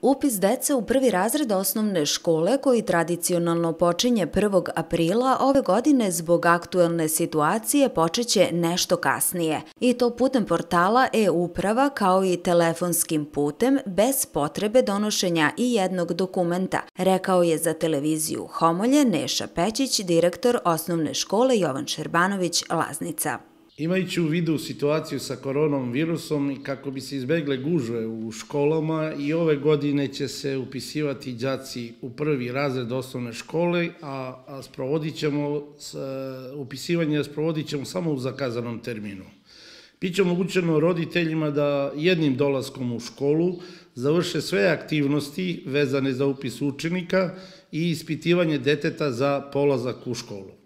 Upis dece u prvi razred osnovne škole, koji tradicionalno počinje 1. aprila, ove godine zbog aktuelne situacije počeće nešto kasnije. I to putem portala e-uprava kao i telefonskim putem, bez potrebe donošenja i jednog dokumenta, rekao je za televiziju Homolje Neša Pećić, direktor osnovne škole Jovan Šerbanović Laznica. Imajući u vidu situaciju sa koronom virusom i kako bi se izbegle gužve u školama, i ove godine će se upisivati đaci u prvi razred osnovne škole, a upisivanje sprovodit ćemo samo u zakazanom terminu. Biće omogućeno roditeljima da jednim dolaskom u školu završe sve aktivnosti vezane za upis učenika i ispitivanje deteta za polazak u školu.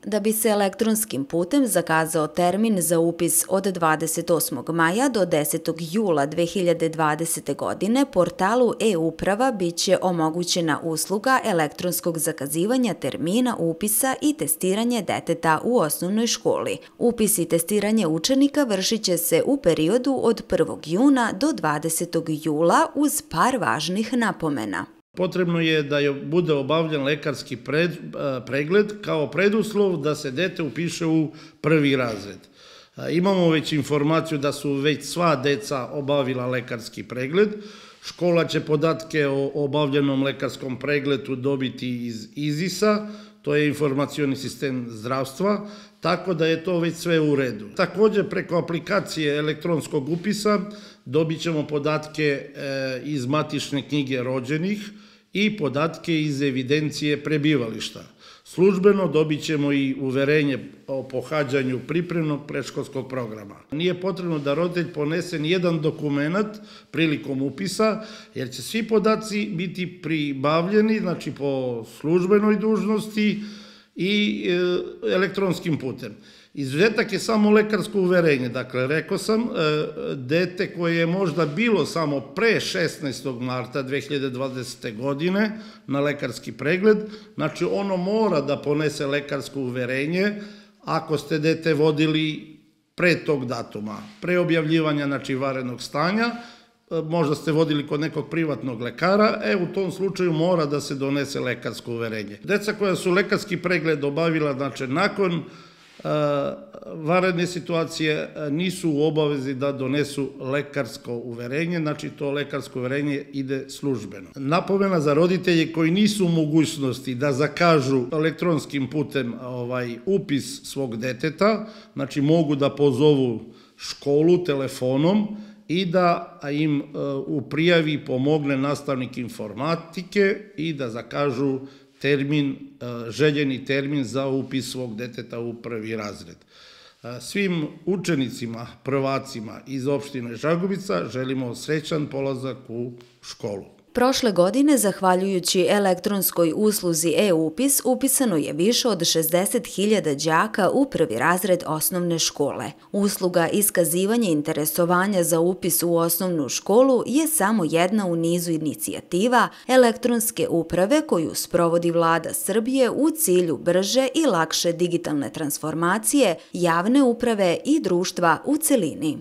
Da bi se elektronskim putem zakazao termin za upis od 28. maja do 10. jula 2020. godine, portalu e-uprava biće omogućena usluga elektronskog zakazivanja termina upisa i testiranje deteta u osnovnoj školi. Upis i testiranje učenika vršit će se u periodu od 1. juna do 20. jula uz par važnih napomena. Potrebno je da bude obavljen lekarski pregled kao preduslov da se dete upiše u prvi razred. Imamo već informaciju da su već sva deca obavila lekarski pregled. Škola će podatke o obavljenom lekarskom pregledu dobiti iz IZIS-a, to je informacioni sistem zdravstva, tako da je to već sve u redu. Također preko aplikacije elektronskog upisa dobit ćemo podatke iz matične knjige rođenih i podatke iz evidencije prebivališta. Službeno dobit ćemo i uverenje o pohađanju pripremnog predškolskog programa. Nije potrebno da roditelj ponese nijedan dokument prilikom upisa, jer će svi podaci biti pribavljeni, znači po službenoj dužnosti i elektronskim putem. Izuzetak je samo lekarsko uverenje. Dakle, rekao sam, dete koje je možda bilo samo pre 16. marta 2020. godine na lekarski pregled, znači ono mora da ponese lekarsko uverenje ako ste dete vodili pre tog datuma, pre objavljivanja, znači, vanrednog stanja, možda ste vodili kod nekog privatnog lekara, u tom slučaju mora da se donese lekarsko uverenje. Deca koja su lekarski pregled obavila, znači, nakon vanredne situacije, nisu u obavezi da donesu lekarsko uverenje, znači to lekarsko uverenje ide službeno. Napomena za roditelje koji nisu u mogućnosti da zakažu elektronskim putem upis svog deteta, znači mogu da pozovu školu telefonom i da im u prijavi pomogne nastavnik informatike i da zakažu željeni termin za upis svog deteta u prvi razred. Svim učenicima, prvacima iz opštine Žagubica želimo srećan polazak u školu. Prošle godine, zahvaljujući elektronskoj usluzi e-upis, upisano je više od 60.000 đaka u prvi razred osnovne škole. Usluga iskazivanja interesovanja za upis u osnovnu školu je samo jedna u nizu inicijativa elektronske uprave koju sprovodi Vlada Srbije u cilju brže i lakše digitalne transformacije javne uprave i društva u celini.